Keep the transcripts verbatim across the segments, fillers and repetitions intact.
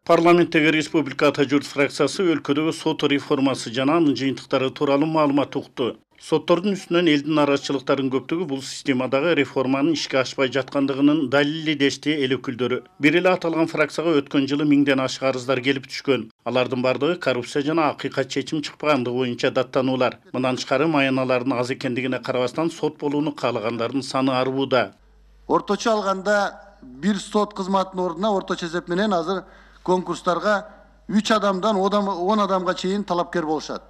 Парламенттеги Республика Ата журт фракциясы өлкөдөгү сот реформасы жана анын жыйынтыктары тууралуу маалымат укту. Соттордун үстүнөн элдин нараазычылыктарынын көптүгү бул системадагы реформанын ишке ашпай жаткандыгынын далили дешти эл өкүлдөрү. Бир эле аталган фракцияга өткөн жылы миңден ашык арыздар келип түшкөн. Алардын бардыгы коррупция жана акыйкат чечим чыкпагандыгы боюнча даттануулар. Мындан тышкары маяналардын аз экендигине карабастан сот болууну каалагандардын саны арбууда. Орточо алганда бир сот кызматынын ордуна орточо эсеп менен азыр конкурстарга үч адамдан он адамга чейин талапкер болушат.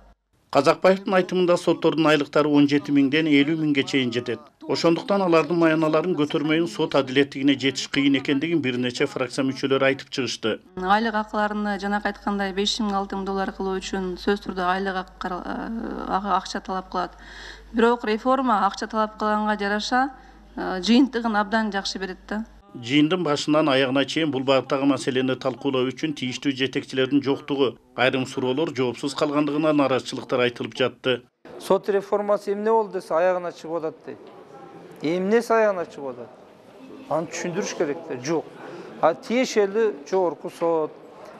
Казакбаевдин айтымында соттордун айлыктары он жети миңден элүү миңге чейин жетет. Ошондуктан алардын маяналарын көтөрмөйүн сот адилеттигине жетиш кыйын экендигин бир нече фракция мүчөлөрү айтып чыгышты. Айлык акыларыны жанакы айткандай беш миң алты миң доллар кылуу үчүн сөзсүз түрдө айлык акча талап кылат. Бирок реформа акча талап кылганга жараша жыйынтыгын абдан жакшы берет да. Жыйындын башынан аягына чейин бул багыттагы маселени талкуулоо үчүн тийиштүү жетекчилердин жоктугу, айрым суроолор жоопсуз калгандыгына нараазычылыктар айтылып жатты. Сот реформасы эмне болду десе аягына чыгып атат дейт. Эмнеси аягына чыгып атат? Аны түшүндүрүш керек да. Жок. А тиешелүү жогорку сот,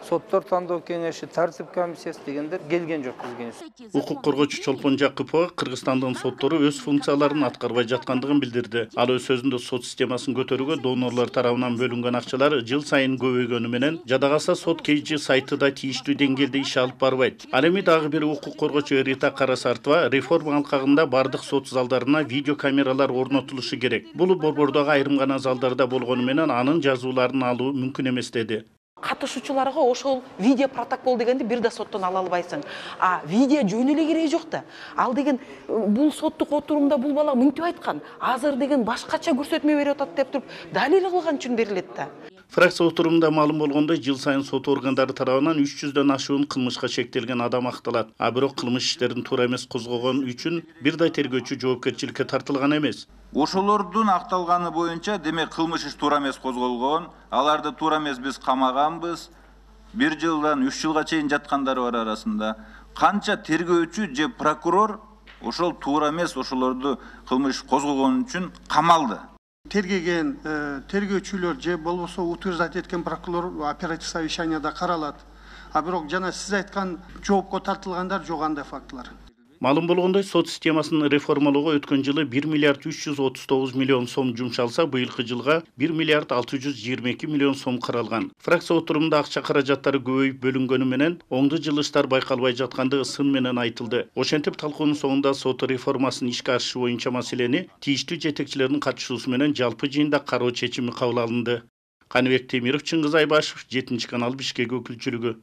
соттор тандоо кеңеши, тартип комиссиясы дегендер келген жок бизге. Укук коргоочу Чолпон Жакыпова Кыргызстандын соттору өз функцияларын аткарбай жаткандыгын билдирди. Ал өз сөзүндө сот системасын көтөрүүгө донорлор тарабынан бөлүнгөн акчалар жыл сайын көбөйгөнү менен жада калса сот кейжи сайты да тийиштүү деңгээлде иш алып барбайт. Ал эми дагы бир укук коргоочу Рита Карасартова реформа алкагында бардык сот залдарына видео камералар орнотулушу керек. Бул борбордогу айрым гана залдарда болгону менен анын жазууларын алуу мүмкүн эмес деди. Катышуучуларга ошол видео протокол дегенди бир да соттон ала албайсың. А видео жөн эле кереги жок да. Ал деген бул соттук отурумда бул бала мынтип айткан, азыр деген башкача көрсөтмө берип атат деп туруп далил кылган үчүн берилет да. Фракция отурумунда маалым болгондой, жыл сайын сот органдары тарабынан үч жүздөн ашуун кылмышка шектелген адам акталат. А бирок кылмыш иштерин туура эмес козгогон үчүн бир да тергөөчү жоопкерчиликке тартылган эмес. Ошолордун акталганы боюнча демек кылмыш иш туура эмес козголгон, аларды туура эмес биз камаганбыз. Бир жылдан үч жылга чейин жаткандары бар арасында. Канча тергөөчү же прокурор ошол туура эмес ошолорду кылмыш козгогон үчүн камалды. Тергеген тергөөчүлөр же болбосо утверждать эткен прокурор оперативдик совещанияда каралат. А бирок жана сиз айткан жоопко тартылгандар жок андай фактылар. Маалым болгондой, сот системасын реформалоого өткөн жылы бир миллиард үч жүз отуз тогуз миллион сом жумшалса, быйылкы жылга бир миллиард алты жүз жыйырма эки миллион сом каралган. Фракция отурумунда акча каражаттары көбөйүп бөлүнгөнү менен оңду жылыштар байкалбай жаткандыгы сын менен айтылды. Ошентип талкуунун соңунда сот реформасынын ишке ашышы боюнча маселени тийиштүү жетекчилердин катышуусу менен жалпы жыйында кароо чечими кабыл алынды. Каныбек Темиров, Чыңгыз Айбашев, жетинчи канал, Бишкек өкүлчүлүгү.